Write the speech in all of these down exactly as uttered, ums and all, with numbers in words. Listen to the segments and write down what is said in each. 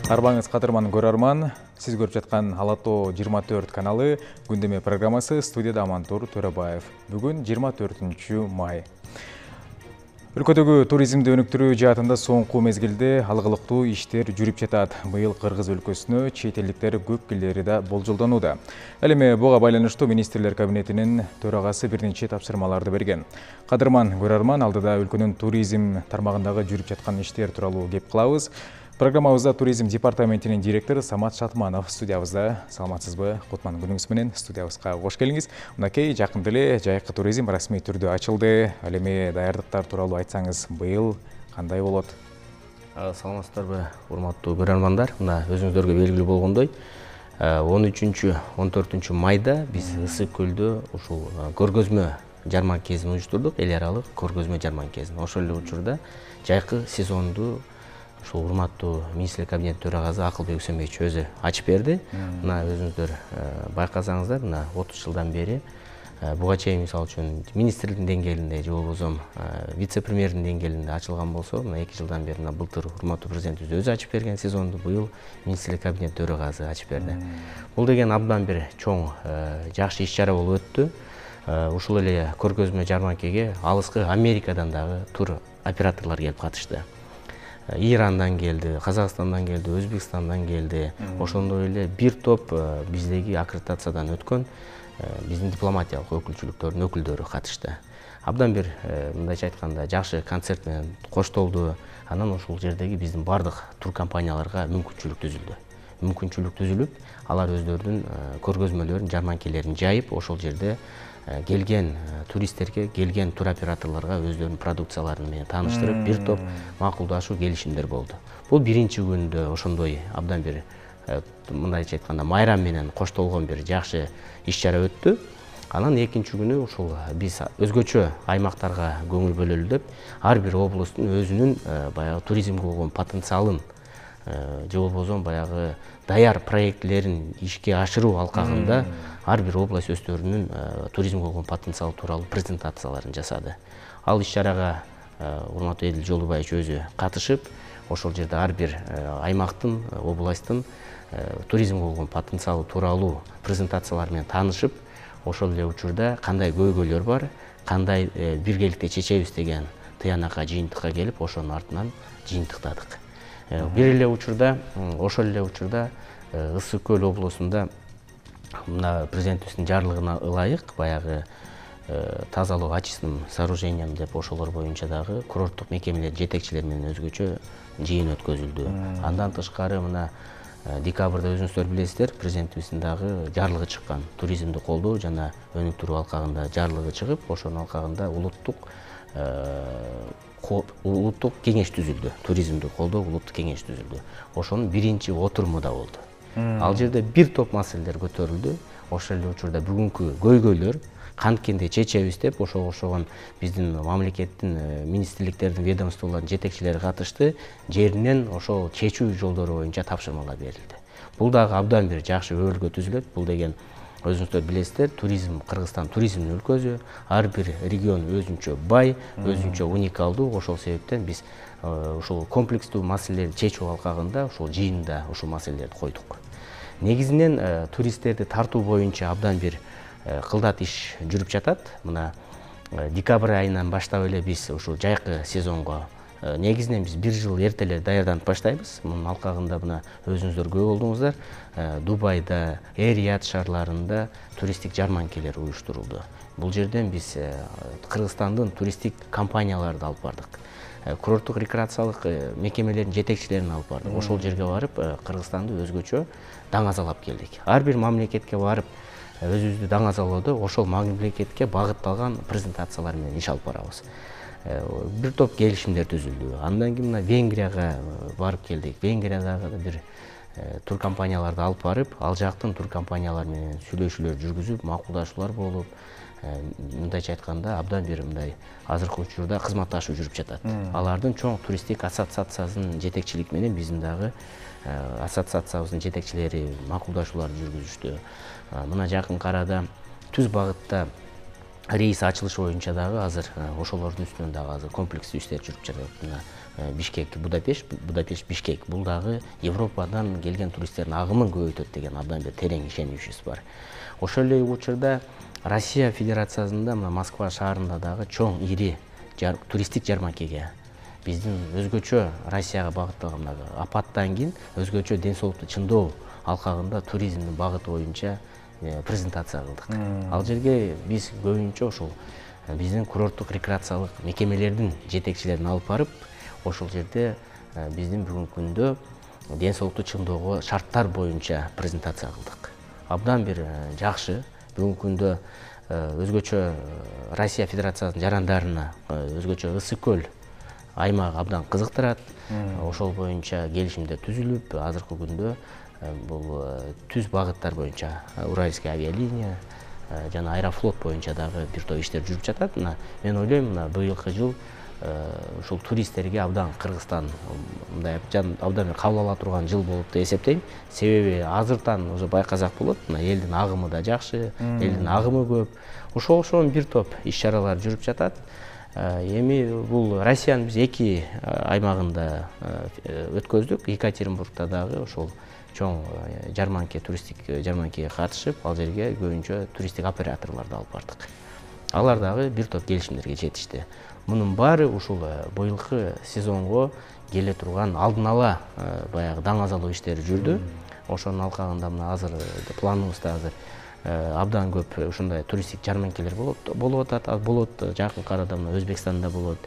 Арбаңыз кадырман көрөрман, сиз көрүп жаткан Ала Тоо жыйырма төрт каналы күндөмө программасы, студияда Амантур Төрөбаев. Бүгүн жыйырма төртүнчү май. Өлкөдөгү туризмди өнүктүрүү жаатында соңку мезгилде алгылыктуу иштер жүрүп жатат. Быйыл Кыргыз өлкөсүнө чет элдиктер көп келери да болжолдонууда. Ал эми буга байланыштуу министрлер кабинетинин төрагасы бир нече тапшырмаларды берген. Кадырман көрөрман, алдыда өлкөнүн туризм тармагындагы жүрүп жаткан иштер тууралуу кеп кылабыз. Программабызда туризм департаментинин директору Самат Шатманов студиябызда. Саламатсызбы? Кутман күнүңүз менен студиябызга кош келиңиз. Мынакей жакында эле жайкы туризм расмий түрдө ачылды. Ал эми даярдыктар тууралуу айтсаңыз, быйыл кандай болот? Саламатсыздарбы, урматтуу көрөрмандар? Мына өзүңүздөргө белгилүү болгондой, он үчүнчү он төртүнчү майда биз Ысык көлдө ушул көргөзмө жарманкесин уюштурдук, эл аралык көргөзмө жарманкесин. Ошол эле учурда жайкы сезонду ушул урматтуу министрлер кабинет төрагасы Акылбек Үсөнбекович өзү ачып берди. Мына өзүңүздөр байкасаңыздар, мына отуз жылдан бери буга чейин мисалы үчүн министрликтин деңгээлинде же болбосо вице-премьердин деңгээлинде ачылган болсо, мына эки жылдан бери мына былтыр урматтуу президентибиз өзү ачып берген сезонду быйыл министрлер кабинет төрагасы ачып берди. Бул деген абдан бир чоң жакшы иш-чара болуп өттү. Ушул эле көргөзмө жарманкеге алыскы Америкадан дагы тур операторлор келип катышты. Ирандан келди, Казакстандан келди, Өзбекстандан келди. Ошондой эле бир топ биздеги аккредитациядан өткөн биздин дипломатиялык өкүлчүлүктөрдүн өкүлдөрү катышты. Абдан бир мындайча айтканда жакшы концерт менен коштолду. Анан ушул жердеги биздин бардык тур компанияларга мүмкүнчүлүк түзүлдү. Мүмкүнчүлүк түзүлүп, алар өздөрүнүн көргөзмөлөрүн, жарманкелерин жайып, ошол жерде келген туристтерге, келген тур операторлорго өздөрүнүн продукциялары менен тааныштырып, бир топ макулдашуу келишимдер болду. Бул биринчи күндө ошондой абдан бир мындайча айтканда майрам менен коштолгон бир жакшы иш-чара өттү. Анан экинчи күнү ушул биз өзгөчө аймактарга көңүл бөлөлү деп, ар бир облустун өзүнүн баягы туризмге болгон потенциалын же болбосо баягы даяр проектлерин ишке ашыруу алкагында ар бир область өздөрүнүн туризмге болгон потенциалы тууралуу презентацияларын жасады. Ал иш-чарага урматтуу Эдил Жолдубаевич өзү катышып, ошол жерде ар бир аймактын, областтын туризмге болгон потенциалы тууралуу презентациялар менен таанышып, ошол эле учурда кандай көйгөйлөр бар, кандай биргеликте чечебиз деген тыянакка, жыйынтыкка келип, ошонун артынан жыйынтыктадык. Бир эле учурда, ошол эле учурда Ысык көл облусунда мына президентибиздин жарлыгына ылайык баягы тазалоо очистным сооружением деп ошолор боюнча дагы курорттук мекемелер жетекчилери менен өзгөчө жыйын өткөзүлдү. Андан тышкары мына декабрда өзүңүздөр билесиздер, президентибиздин дагы жарлыгы чыккан. Туризмди колдоо жана өнүктүрүү алкагында жарлыгы чыгып, ошонун алкагында улуттук улуттук кеңеш түзүлдү. Туризмди колдоо улуттук кеңеш түзүлдү. Ошонун биринчи отуруму да болду. Ал жерде бир топ маселелер көтөрүлдү. Ошол эле учурда бүгүнкү көйгөйлөр канткенде чечебиз деп, ошого окшогон биздин мамлекеттин министрликтердин, ведомстволордун жетекчилери катышты. Жеринен ошол чечүү жолдору боюнча тапшырмалар берилди. Бул дагы абдан бир жакшы өбөлгө түзүлөт. Бул деген өзүңүздөр билесиздер, туризм, Кыргызстан туризмдин өлкөсү, ар бир регион өзүнчө бай, өзүнчө уникалдуу. Ошол себептен биз ушул комплекстүү маселелерди чечүү алкагында ушул жыйында ушул маселелерди койдук. Негизинен туристтерди тартуу боюнча абдан бир кылдат иш жүрүп жатат. Мына декабрь айынан баштап эле биз ушул жайкы сезонго негизинен биз бир жыл эртелер даярданып баштайбыз. Мунун алкагында мына өзүңүздөр күбө болдуңуздар. Дубайда, Эр-Рияд шаарларында туристтик жарманкелер уюштурулду. Бул жерден биз Кыргызстандын туристтик компанияларды алып бардык. Курорттук рекреациялык мекемелердин жетекчилерин алып бардык. Ошол жерге барып, Кыргызстанды өзгөчө даңазалап келдик. Ар бир мамлекетке барып, өзүбүздү даңазалоодо ошол мамлекетке багытталган презентациялар менен иш алып барабыз. Бир топ келишимдер түзүлдү. Андан кийин мына Венгрияга барып келдик. Венгриядагы бир тур компанияларды алып барып, ал жактын тур компаниялары менен сүйлөшүүлөр жүргүзүп, макулдашуулар болуп, мындайча айтканда абдан бир мындай азыркы учурда кызматташуу жүрүп жатат. Алардын чоң туристтик ассоциациясынын жетекчилиги менен биздин дагы ассоциациябыздын жетекчилери макулдашууларды жүргүзүштү. Мына жакын арада түз багытта рейс ачылышы боюнча дагы азыр ошолордун үстүнөн дагы азыр комплекстүү иштер жүрүп жатат. Мына Бишкек, Будапешт, Будапешт, Бишкек бул дагы Европадан келген туристтердин агымын көбөйтөт деген абдан бир терең ишеничибиз бар. Ошол эле учурда Россия Федерациясында мына Москва шаарында дагы чоң ири туристтик жарманкеге биздин өзгөчө Россияга багытталган апаттан кийин өзгөчө ден соолукту чыңдоо алкагында туризмдин багыты боюнча презентация кылдык. Ал жерге биз көбүнчө ошол биздин курорттук рекреациялык мекемелердин жетекчилерин алып барып, ошол жерде биздин бүгүнкү күндө ден соолукту чыңдоого шарттар боюнча презентация кылдык. Абдан бир жакшы. Бүгүнкү күндө өзгөчө Россия Федерациясынын жарандарына өзгөчө ысык көл аймагы абдан кызыктырат. Ошол боюнча келишимдер түзүлүп, азыркы күндө бул түз багыттар боюнча Уральская авиалиния жана Аэрофлот боюнча дагы бир топ иштер жүрүп жатат. Мына мен ойлойм, мына быйылкы жыл ушул туристтерге абдан Кыргызстан мындай абдан бир кабыл ала турган жыл болуп деп эсептейм. Себеби азыртан уже байкасак болот, мына элдин агымы да жакшы, элдин агымы көп. Ошол ошон бир топ иш-чаралар жүрүп жатат. Эми бул Россиянын биз эки аймагында өткөздүк. Екатеринбургда дагы ошол чоң жарманке, туристтик жарманкеге катышып, ал жерге көбүнчө туристтик операторлорду алып бардык. Алар дагы бир топ келишимдерге жетишти. Мунун баары ушул быйылкы сезонго келе турган алдын ала баягы даң азалоо иштери жүрдү. Ошонун алкагында мына азыр планыбызда азыр абдан көп ушундай туристтик жарманкелер болот болуп атат. Болот жакынкы арада мына Өзбекстанда болот,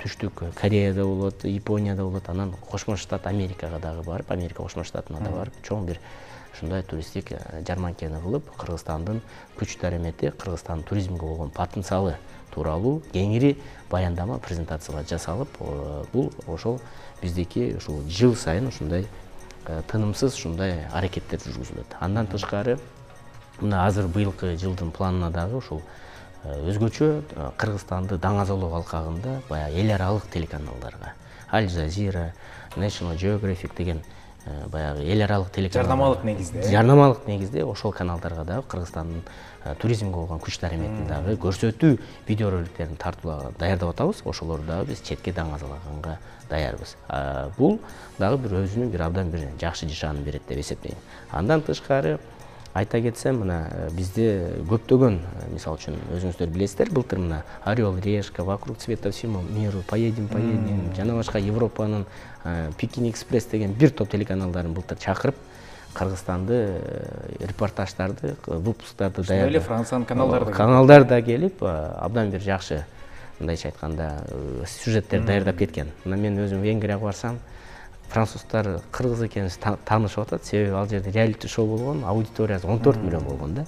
Түштүк Кореяда болот, Японияда болот, анан Кошмо Штат Америкага дагы барып, Америка Кошмо Штатына да барып, чоң бир ушундай туристтик жарманкени кылып, Кыргызстандын күч даремети, Кыргызстандын туризмге болгон потенциалы тууралуу кеңири баяндама, презентациялар жасалып, бул ошол биздики ушул жыл сайын ушундай тынымсыз ушундай аракеттер жүргүзүлөт. Андан тышкары мына азыр быйылкы жылдын планына дагы ушул өзгөчө Кыргызстанды даң азалоо алкагында баягы эл аралык телеканалдарга, Аль Жазира, National Geographic деген баягы эл аралык телеканалдар жарнамалык негизде. Жарнамалык негизде ошол каналдарга дагы Кыргызстандын туризмге болгон күч дареметин дагы көрсөтүү видео роликтерин тартуулага даярдап атабыз. Ошолорду дагы биз четке даң азалаганга даярбыз. Бул дагы бир өзүнүн бир абдан бир жакшы нишанын берет деп эсептейм. Андан тышкары айта кетсем, мына бизде көптөгөн, мисалы үчүн өзүңүздөр билесиздер, былтыр мына Орел, Решка, Вокруг цвета всему миру, Поедем, поедем, жана башка Европанын Пекин Экспресс деген бир топ телеканалдарын былтыр чакырып, Кыргызстанды репортаждарды, выпусктарды даярдап. Эле Франциянын каналдары каналдар да келип, абдан бир жакшы, мындайча айтканда, сюжеттер даярдап кеткен. Мына мен өзүм Венгрияга барсам, француздар кыргыз экенибизди таанышып атат. Себеби ал жерде реалити шоу болгон, аудиториясы он төрт миллион болгон да.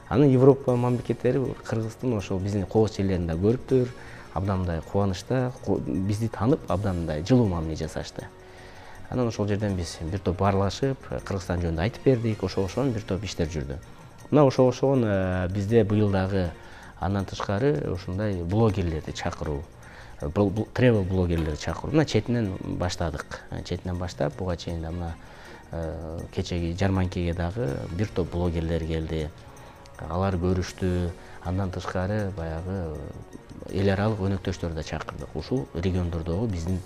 Анын Европа мамлекеттери Кыргыздын ошол биздин кооз жерлерин да көрүптүр. Абдан мындай кубанычта, бизди таанып, абдан мындай жылуу мамиле жасашты. Анан ошол жерден биз бир топ баарлашып, Кыргызстан жөнүндө айтып бердик, ошол ошон бир топ иштер жүрдү. Мына ошол ошон бизде быйыл дагы андан тышкары ушундай блогерлерди чакыруу, тревел блогерлерди чакыруу. Мына четинен баштадык. Четинен баштап, буга чейин да мына кечеги жарманкеге дагы бир топ блогерлер келди. Алар көрүштү. Андан тышкары баягы эл аралык өнөктөштөрдү да чакырдык. Ушул региондордогу биздин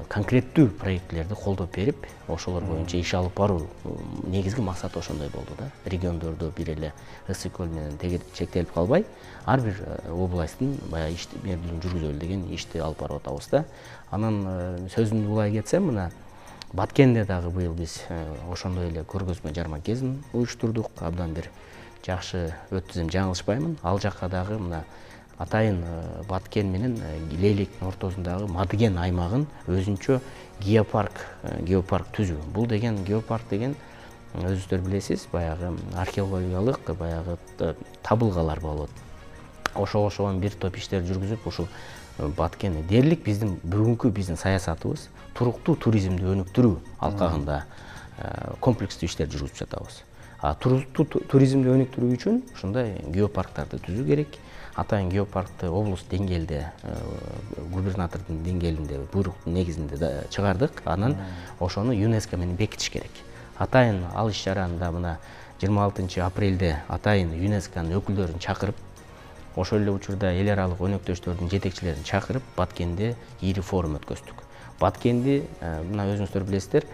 конкреттүү проектлерди колдоп берип, ошолор боюнча иш алып баруу негизги максаты ошондой болду да. Региондордо бир эле ысык көл менен чектелип калбай, ар бир областтын баягы ишмердүүлүгүн жүргүзөлү деген ишти алып барып атабыз да. Анан сөзүмдү улай кетсем, мына Баткенде дагы быйыл биз ошондой эле көргөзмө жарманкесин уюштурдук. Абдан бир жакшы өттү, жаңылышпаймын. Ал жакка дагы мына атайын Баткен менен Лейлектин ортосундагы Мадыген аймагын өзүнчө геопарк, геопарк түзүү. Бул деген геопарк деген өзүңүздөр билесиз, баягы археологиялык баягы табылгалар болот. Ошол ошон бир топ иштер жүргүзүп, ушул Баткенди дээрлик биздин бүгүнкү биздин саясатыбыз туруктуу туризмди өнүктүрүү алкагында комплекстүү иштер жүргүзүп жатабыз. А туруктуу туризмди өнүктүрүү үчүн ушундай геопарктарды түзүү керек. Атайын геопаркты облус деңгээлде, губернатордун деңгээлинде буйруктун негизинде чыгардык. Анан ошону ЮНЕСКО менен бекитиш керек. Атайын ал иш-чараны да мына жыйырма алтынчы апрелде атайын ЮНЕСКОнун өкүлдөрүн чакырып, ошол эле учурда эл аралык өнөктөштөрдүн жетекчилерин чакырып Баткенде ири форум өткөздүк. Баткенди мына өзүңүздөр билесиздер,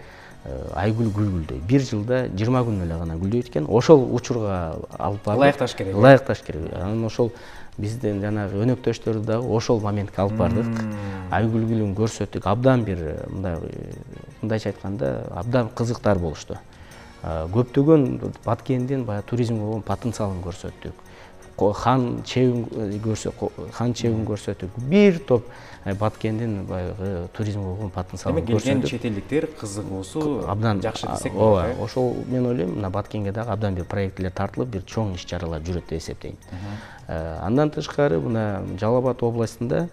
айгүл гүлгүлдөй. Бир жылда жыйырма күн эле гана гүлдөйт экен. Ошол учурга алып бардык. Ылайыкташ керек. Ылайыкташ керек. Анан ошол биздин жанагы өнөктөштөрдү дагы ошол моментке алып бардык. Айгүл гүлүн көрсөттүк. Абдан бир мындай мындайча айтканда абдан кызыктар болушту. Көптөгөн Баткендин баягы туризмге болгон потенциалын көрсөттүк. Хан чебин көрсөттүк, хан чебин көрсөттүк. Бир топ Баткендин баягы туризмге болгон потенциалын көрсөттүк. Келген чет элдиктер кызыгуусу абдан жакшы десек болот. Ооба, ошол мен ойлойм, мына Баткенге дагы абдан бир проекттер тартылып, бир чоң иш-чаралар жүрөт деп эсептейм. Андан тышкары мына Жалал Абад областында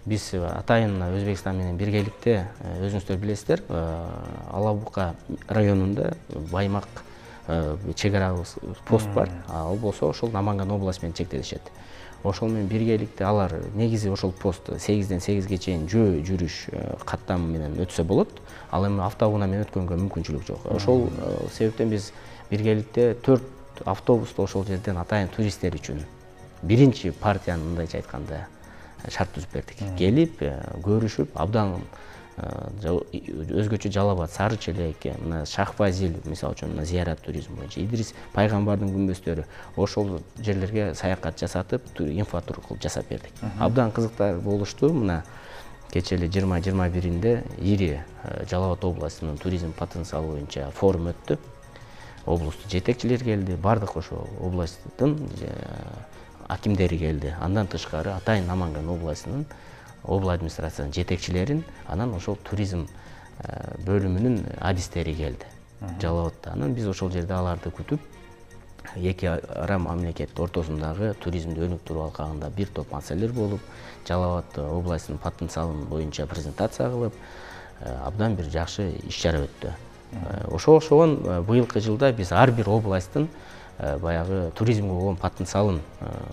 биз атайын Өзбекстан менен биргеликте, өзүңүздөр билесиздер, Ала Бука районунда Баймак чек ара пост бар. Ал болсо ошол Наманган область менен чектешет. Ошол менен биргеликте алар негизи ошол пост сегизден сегизге чейин жөө жүрүш каттамы менен өтсө болот. Ал эми автобуна менен өткөнгө мүмкүнчүлүк жок. Ошол себептен биз биргеликте төрт автобусту ошол жерден атайын туристтер үчүн биринчи партияны мындайча айтканда шарт түзүп бердик. Келип, көрүшүп, абдан өзгөчө Жалал Абад, Сары Челек, мына Шахфазил мисалы үчүн мына зыярат туризми боюнча, Идрис пайгамбардын күмбөздөрү ошол жерлерге саякат жасатып, инфотур кылып жасап бердик. Абдан кызыктар болушту. Мына кечээ эле жыйырма жыйырма биринде ири Жалал Абад областынын туризм потенциалы боюнча форум өттү. Облустун жетекчилери келди, бардык ошол областтын акимдери келди. Андан тышкары атайын Наманган областынын обла администрациянын жетекчилерин, анан ошол туризм бөлүмүнүн адистери келди Жалал Абадта. Анан биз ошол жерде аларды күтүп, эки ара мамлекет ортосундагы туризмди өнүктүрүү алкагында бир топ маселелер болуп, Жалал Абад областынын потенциалын боюнча презентация кылып, абдан бир жакшы иш-чара өттү. Ошол ошогон быйылкы жылда биз ар бир областтын баягы туризмге болгон потенциалын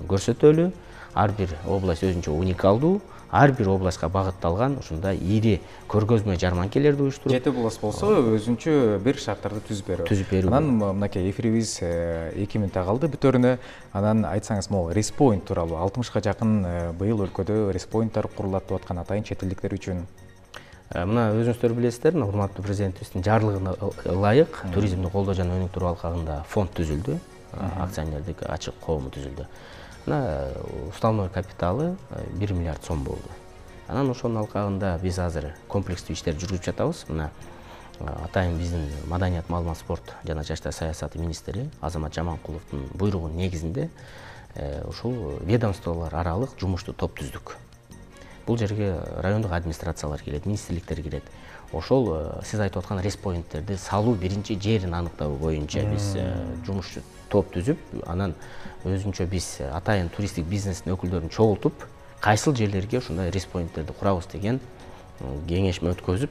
көрсөтөлү, ар бир область өзүнчө уникалдуу, ар бир областка багытталган ушундай ири көргөзмө жарманкелерди уюштуруп, жети область болсо өзүнчө бир шарттарды түзүп берүү. Түзүп берүү. Анан мынакей эфирибиз эки мүнөт калды бүтөрүнө. Анан айтсаңыз, могу респоинт тууралуу алтымышка жакын быйыл өлкөдө респоинттар курулат деп аткан атайын чет элдиктер үчүн. Мына өзүңүздөр билесиздер, урматтуу президентибиздин жарлыгына ылайык туризмди колдоо жана өнүктүрүү алкагында фонд түзүлдү, акционердик ачык коому түзүлдү. Мына уставной капиталы бир миллиард сом болду. Анан ошонун алкагында биз азыр комплекстүү иштер жүргүзүп жатабыз. Мына атайын биздин маданият, маалымат, спорт жана жаштар саясаты министри Азамат Жаманкуловдун буйругунун негизинде ушул ведомстволор аралык жумуштуу топ түздүк. Бул жерге райондук администрациялар кирет, министрликтер кирет. Ошол сиз айтып аткан респоинттерди салуу биринчи жерин аныктоо боюнча биз жумуш топ түзүп, анан өзүнчө биз атайын туристтик бизнестин өкүлдөрүн чогултуп, кайсыл жерлерге ушундай респоинттерди курабыз деген кеңешме өткөзүп,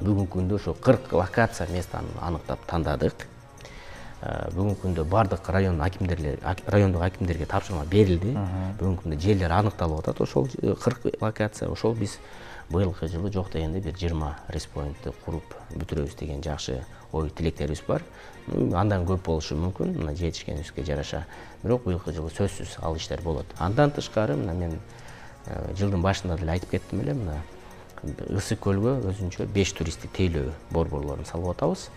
бүгүнкү күндө ошо кырк локация местаны аныктап тандадык. Бүгүнкү күндө бардык район акимдерлер, райондук акимдерге тапшырма берилди. Бүгүнкү күндө жерлер аныкталып атат, ошол кырк локация. Ошол биз быйылкы жылы жок дегенде бир жыйырма респоинтти куруп бүтүрөбүз деген жакшы ой тилектерибиз бар. Андан көп болушу мүмкүн, мына жетишкенибизге жараша. Бирок быйылкы жылы сөзсүз ал иштер болот. Андан тышкары мына мен жылдын башында деле айтып кеттим эле, мына Ысык көлгө өзүнчө беш туристтик тейлөө борборлорун салып атабыз.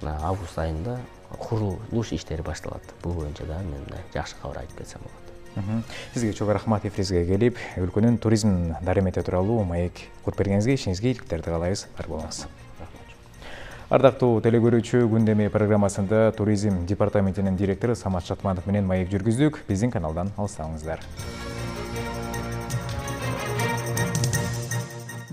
Мына август айында курулуш иштери башталат. Бул боюнча да мен мындай жакшы кабар айтып кетсем болот. Сизге чоң рахмат эфирибизге келип, өлкөнүн туризм дарымети тууралуу маек куруп бергениңизге, ишиңизге ийгиликтерди каалайбыз. Бар болуңуз. Ардактуу телекөрүүчү, Күндөмө программасында туризм департаментинин директору Самат Шатманов менен маек жүргүздүк. Биздин каналдан алыстабыңыздар.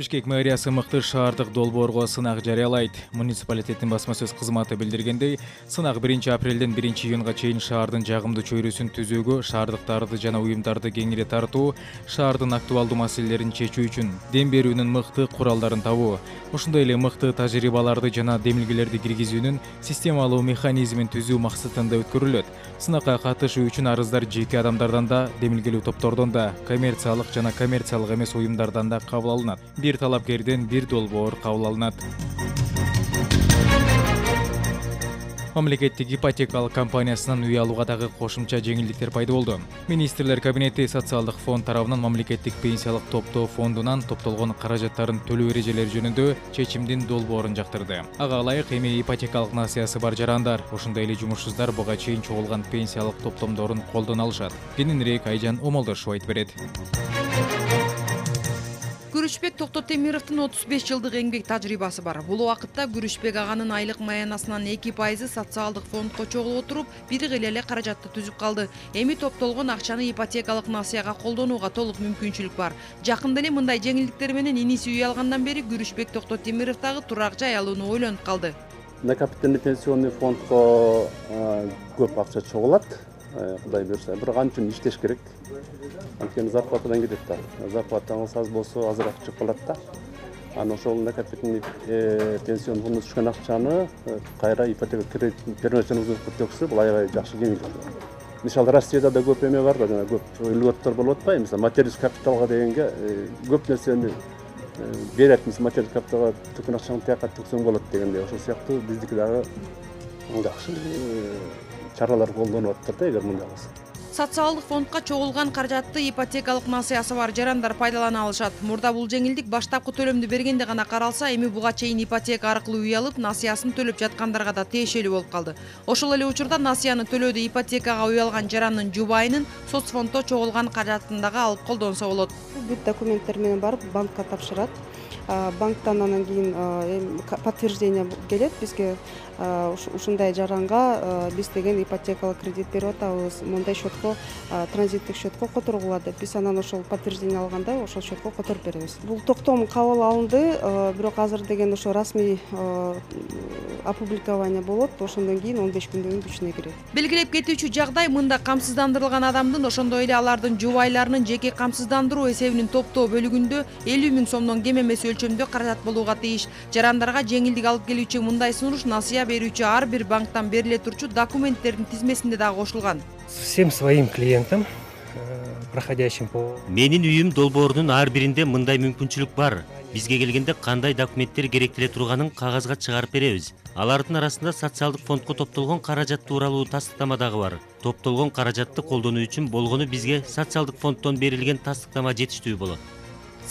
Бишкек мэриясы мыкты шаардык долбоорго сынак жарыялайт. Муниципалитеттин басма сөз кызматы билдиргендей, сынак биринчи апрелден биринчи июнга чейин шаардын жагымдуу чөйрөсүн түзүүгө, шаардыктарды жана уюмдарды кеңири тартуу, шаардын актуалдуу маселелерин чечүү үчүн дем берүүнүн мыкты куралдарын табуу, ошондой эле мыкты тажрыйбаларды жана демилгелерди киргизүүнүн системалуу механизмин түзүү максатында өткөрүлөт. Сынакка катышуу үчүн арыздар жеке адамдардан да, демилгелүү топтордон да, коммерциялык жана коммерциялык эмес уюмдардан да кабыл алынат. Бир талапкерден бир долбоор кабыл алынат. Мамлекеттик ипотекалык компаниясынан үй алууга дагы кошумча жеңилдиктер пайда болду. Министрлер кабинети социалдык фонд тарабынан мамлекеттик пенсиялык топтоо фондунан топтолгон каражаттарын төлөө эрежелери жөнүндө чечимдин долбоорун жактырды. Ага ылайык эми ипотекалык насыясы бар жарандар, ошондой эле жумушсуздар буга чейин чогулган пенсиялык топтомдорун колдоно алышат. Кененирээк Айжан Омолдошова айтып берет. Күрүшбек Токтотемировдун отуз беш жылдык эмгек тажрыйбасы бар. Бул убакытта Күрүшбек аганын айлык маянасынан эки пайызы социалдык фондко чогулуп отуруп, бир гыйле эле каражатты түзүп калды. Эми топтолгон акчаны ипотекалык насыяга колдонууга толук мүмкүнчүлүк бар. Жакында эле мындай жеңилдиктер менен иниси үй алгандан бери Күрүшбек Токтотемиров дагы турак жай алууну ойлонуп калды. Накопительный пенсионный фондко көп акча чогулат. Кудай буюрса, бирок ал үчүн иштеш керек. Анткени зарплатадан кетет да. Зарплатаңыз аз болсо азыраак чыгып калат да. Анан ошол накопительный пенсионный фонддон түшкөн акчаны кайра ипотека кредит первоначальный төксө, бул аябай жакшы жеңилдик. Мисалы Россияда да көп эме бар да, жана көп льготтор болуп атпайбы? Мисалы материалдык капиталга дегенге көп нерсени берет. Мисалы материалдык капиталга төккөн акчаны тияка төксөң болот дегендей. Ошол сыяктуу биздики дагы жакшы чаралар колдонуп атат да, эгер мындай болсо. Социалдык фондко чогулган каражатты ипотекалык насыясы бар жарандар пайдалана алышат. Мурда бул жеңилдик баштапкы төлөмдү бергенде гана каралса, эми буга чейин ипотека аркылуу үй алып, насыясын төлөп жаткандарга да тиешелүү болуп калды. Ошол эле учурда насыяны төлөөдө ипотекага үй алган жарандын жубайынын соцфонддо чогулган каражатын дагы алып колдонсо болот. Бүт документтер менен барып банкка тапшырат. Банктан анан кийин подтверждение келет бизге. Ушундай жаранга биз деген ипотекалык кредит берип атабыз, мындай счетко, транзиттик счетко которгула деп. Биз анан ошол подтверждение алганда ошол счетко которуп беребиз. Бул токтом кабыл алынды, бирок азыр деген ошо расмий опубликование болот, ошондон кийин он беш күндөн кийин күчүнө кирет. Белгилеп кетүүчү жагдай мында камсыздандырылган адамдын, ошондой эле алардын жубайларынын жеке камсыздандыруу эсебинин топтоо бөлүгүндө элүү миң сомдон кем эмес өлчөмдө каражат болууга тийиш. Жарандарга жеңилдик алып келүүчү мындай сунуш насыя берүүчү ар бир банктан бериле турчу документтердин тизмесинде дагы кошулган. Всем своим клиентам, проходящим по... Менин үйүм долбоорунун ар биринде мындай мүмкүнчүлүк бар. Бизге келгенде кандай документтер керектеле турганын кагазга чыгарып беребиз. Алардын арасында социалдык фондко топтолгон каражат тууралуу тастыктама дагы бар. Топтолгон каражатты колдонуу үчүн болгону бизге социалдык фонддон берилген тастыктама жетиштүү болот.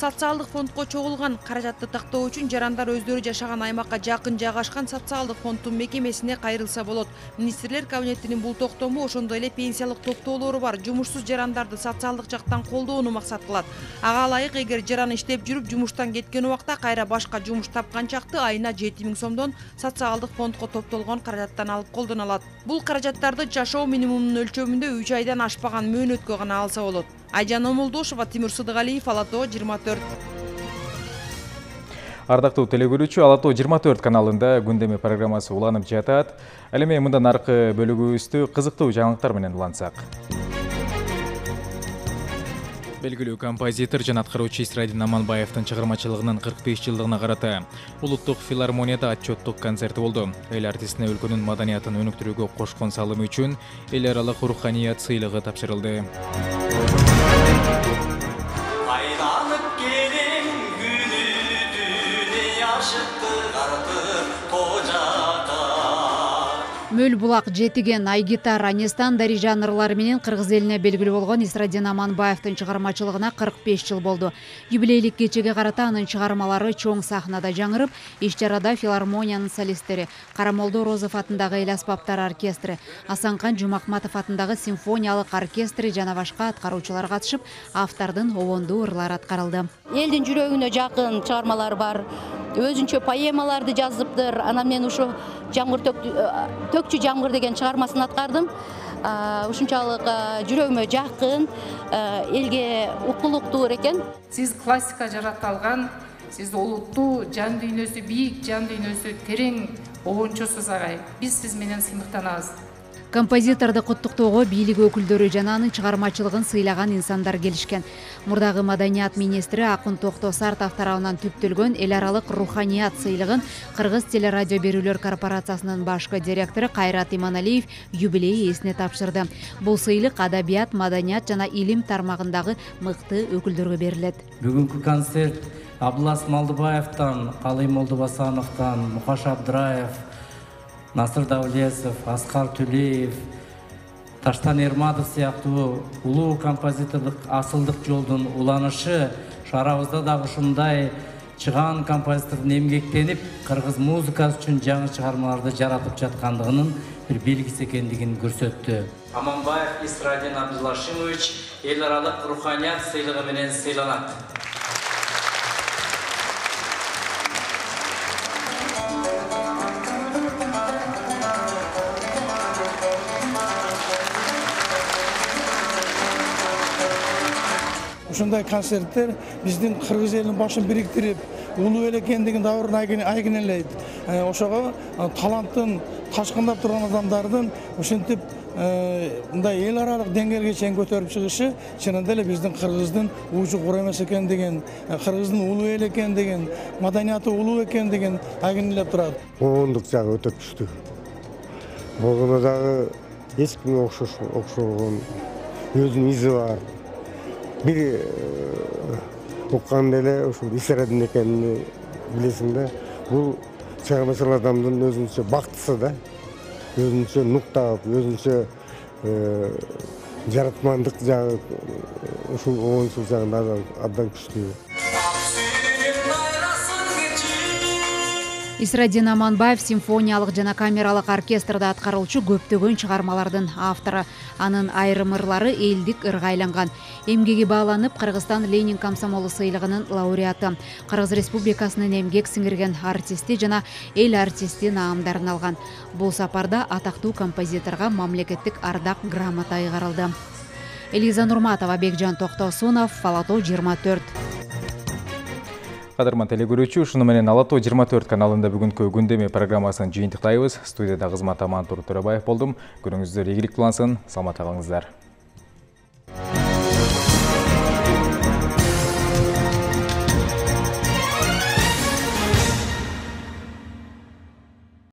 Социалдык фондко чогулган каражатты тактоо үчүн жарандар өздөрү жашаган аймакка жакын жайгашкан социалдык фонддун мекемесине кайрылса болот. Министрлер кабинетинин бул токтому ошондой эле пенсиялык топтоолору бар жумушсуз жарандарды социалдык жактан колдоону максат кылат. Ага ылайык, эгер жаран иштеп жүрүп жумуштан кеткен убакта кайра башка жумуш тапкан чакты айына жети миң сомдон социалдык фондко топтолгон каражаттан алып колдоно алат. Бул каражаттарды жашоо минимумунун өлчөмүндө үч айдан ашпаган мөөнөткө гана алса болот. Айжан Омолдошова, Тимур Сыдыгалиев, Ала Тоо жыйырма төрт. Ардактуу теле көрүүчү, Ала Тоо жыйырма төрт каналында күндөмө программасы уланып жатат. Ал эми мындан аркы бөлүгүбүздү кызыктуу жаңылыктар менен улантсак. Белгилүү композитор жана аткаруучу Исрадин Аманбаевдин чыгармачылыгынын кырк беш жылдыгына карата Улуттук филармонияда отчеттук концерти болду. Эл артистине өлкөнүн маданиятын өнүктүрүүгө кошкон салымы үчүн эл аралык руханият сыйлыгы тапшырылды. Мөл булак, жетиген, айгитар, анестан дари жанрлары менен кыргыз элине белгилүү болгон Исрадин Аманбаевдин чыгармачылыгына кырк беш жыл болду. Юбилейлик кечеге карата анын чыгармалары чоң сахнада жаңырып, иш-чарада филармониянын солисттери, Карамолдо Розов атындагы эл аспаптар оркестри, Асанкан Жумакматов атындагы симфониялык оркестри жана башка аткаруучулар катышып, автордун обондуу ырлары аткарылды. Элдин жүрөгүнө жакын чыгармалар бар. Өзүнчө поэмаларды жазыптыр. Анан мен ушу жамгыр төкчү жамгыр деген чыгармасын аткардым. Ушунчалык жүрөгүмө жакын, элге укулуктуу экен. Сиз классика жарата алган, сиз олуттуу, жан дүйнөсү бийик, жан дүйнөсү терең обончусуз агай. Биз сиз менен сыймыктанабыз. Композиторду куттуктоого бийлик өкүлдөрү жана анын чыгармачылыгын сыйлаган инсандар келишкен. Мурдагы маданият министри Акын Токто Сартов тарабынан түптөлгөн эл аралык руханият сыйлыгын Кыргыз телерадио берүүлөр корпорациясынын башкы директору Кайрат Иманалиев юбилей ээсине тапшырды. Бул сыйлык адабият, маданият жана илим тармагындагы мыкты өкүлдөргө берилет. Бүгүнкү концерт Абдулас Малдыбаевтан, Калый Молдобасановтан, Мухаш Абдыраев, Насыр Даулесов, Аскар Түлеев, Таштан Эрматов сыяктуу улуу композитордук асылдык жолдун уланышы шаарыбызда дагы ушундай чыгаан композитордун эмгектенип, кыргыз музыкасы үчүн жаңы чыгармаларды жаратып жаткандыгынын бир белгиси экендигин көрсөттү. Аманбаев Исрадин Абдулашимович эл аралык руханият сыйлыгы менен сыйланат. Ушундай концерттер биздин кыргыз элинин башын бириктирип, улуу эл экендигин дабырын айгинелейт. Ошого таланттын ташкындап турган адамдардын ушинтип мындай эл аралык деңгээлге чейин көтөрүп чыгышы чынында эле биздин кыргыздын уучу кур эмес экендигин, кыргыздын улуу эл экендигин, маданияты улуу экендигин айгинелеп турат. Оңдук жагы өтө күчтүү. Богуна дагы эч кимге окшогон өзүнүн изи бар. Бир укканда эле ушул Исрадин экенин билесиң да. Бул чыгармачыл адамдын өзүнчө бактысы да. Өзүнчө нуктап, өзүнчө жаратмандык жагы ушул оңчул жагында абдан күчтүү. Исрадин Аманбаев симфониялык жана камералык оркестрда аткаруучу көптөгөн чыгармалардын автору. Анын айрым ырлары элдик ырга айланган. Эмгеги бааланып, Кыргызстан Ленин комсомолу сыйлыгынын лауреаты, Кыргыз Республикасынын эмгек сиңирген артисти жана эл артисти наамдарын алган. Бул сапарда атактуу композиторго мамлекеттик ардак грамота ыйгарылды. Элиза Нурматова, Бекжан Токтосунов, Алатоо жыйырма төрт. Кадырман телекөрүүчү, ушуну менен Алатоо жыйырма төрт каналында бүгүнкү күндөме программасын жыйынтыктайбыз. Студияда кызмат Амантур Төрөбаев болдум. Күнүңүздөр ийгиликтүү улансын, саламатта калыңыздар.